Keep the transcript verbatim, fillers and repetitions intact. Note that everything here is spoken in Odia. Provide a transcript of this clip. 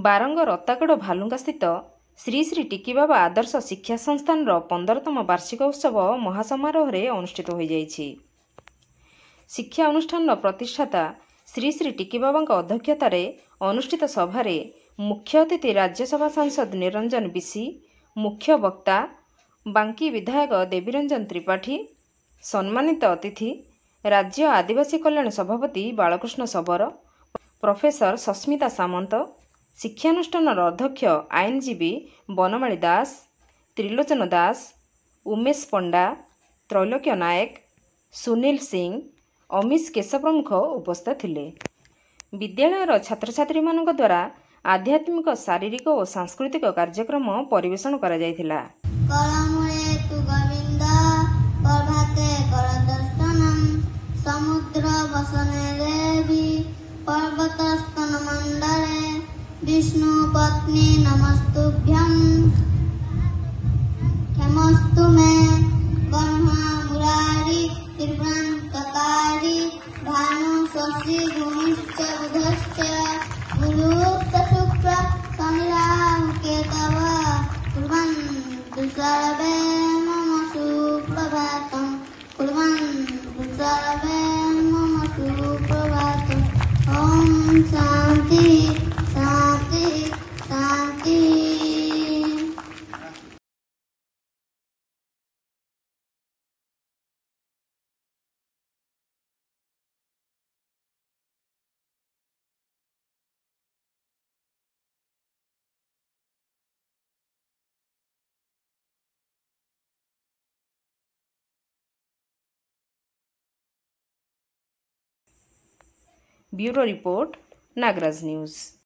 ବାରଙ୍ଗ ରତାଗଡ଼ ଭାଲୁଙ୍କାସ୍ଥିତ ଶ୍ରୀ ଶ୍ରୀ ଟିକିବାବା ଆଦର୍ଶ ଶିକ୍ଷା ସଂସ୍ଥାନର ପନ୍ଦରତମ ବାର୍ଷିକ ଉତ୍ସବ ମହାସମାରୋହରେ ଅନୁଷ୍ଠିତ ହୋଇଯାଇଛି। ଶିକ୍ଷା ଅନୁଷ୍ଠାନର ପ୍ରତିଷ୍ଠାତା ଶ୍ରୀ ଶ୍ରୀ ଟିକିବାବାଙ୍କ ଅଧ୍ୟକ୍ଷତାରେ ଅନୁଷ୍ଠିତ ସଭାରେ ମୁଖ୍ୟ ଅତିଥି ରାଜ୍ୟସଭା ସାଂସଦ ନିରଞ୍ଜନ ବିଶି, ମୁଖ୍ୟ ବକ୍ତା ବାଙ୍କୀ ବିଧାୟକ ଦେବୀରଞ୍ଜନ ତ୍ରିପାଠୀ, ସମ୍ମାନିତ ଅତିଥି ରାଜ୍ୟ ଆଦିବାସୀ କଲ୍ୟାଣ ସଭାପତି ବାଳକୃଷ୍ଣ ଶବର, ପ୍ରଫେସର ସସ୍ମିତା ସାମନ୍ତ, ଶିକ୍ଷାନୁଷ୍ଠାନର ଅଧ୍ୟକ୍ଷ ଆଇନଜୀବୀ ବନମାଳୀ ଦାସ, ତ୍ରିଲୋଚନ ଦାସ, ଉମେଶ ପଣ୍ଡା, ତ୍ରୈଲୋକ୍ୟ ନାୟକ, ସୁନୀଲ ସିଂ, ଅମିଶ କେଶ ପ୍ରମୁଖ ଉପସ୍ଥିତ ଥିଲେ। ବିଦ୍ୟାଳୟର ଛାତ୍ରଛାତ୍ରୀମାନଙ୍କ ଦ୍ୱାରା ଆଧ୍ୟାତ୍ମିକ, ଶାରୀରିକ ଓ ସାଂସ୍କୃତିକ କାର୍ଯ୍ୟକ୍ରମ ପରିବେଷଣ କରାଯାଇଥିଲା। କରମୂଳେ ତୁ ଗୋବିନ୍ଦ, ପ୍ରଭାତେ କର ଦର୍ଶନମ୍, ସମୁଦ୍ର ବସନେ ଦେବୀ, ପର୍ବତ ସ୍ତନ ମଣ୍ଡଳେ, ବିଷ୍ଣୁ ପତ୍ନୀ ନମସ୍ତୁଭ୍ୟଂ, କ୍ଷମସ୍ତୁ ମେ। ବ୍ରହ୍ମା ମୁରାରୀ ତ୍ରିପୁରାନ୍ତକାରୀ, ଭାନୁ ଶଶି ଭୂମିଶ୍ଚ ବୁଧଶ୍ଚ, ଗୁରୁଶ୍ଚ ଶୁକ୍ର ଶନି ରାହୁ କେତବ, କୁର୍ବन्तु ସର୍ବେ ମମ ସୁପ୍ରଭାତಂ, କୁର୍ବन्तु ସର୍ବେ ମମ ସୁପ୍ରଭାତಂ। ଓମ୍ ଶାନ୍ତି ଶାନ୍ତି ଶାନ୍ତି। Bureau report, Nagaraj news.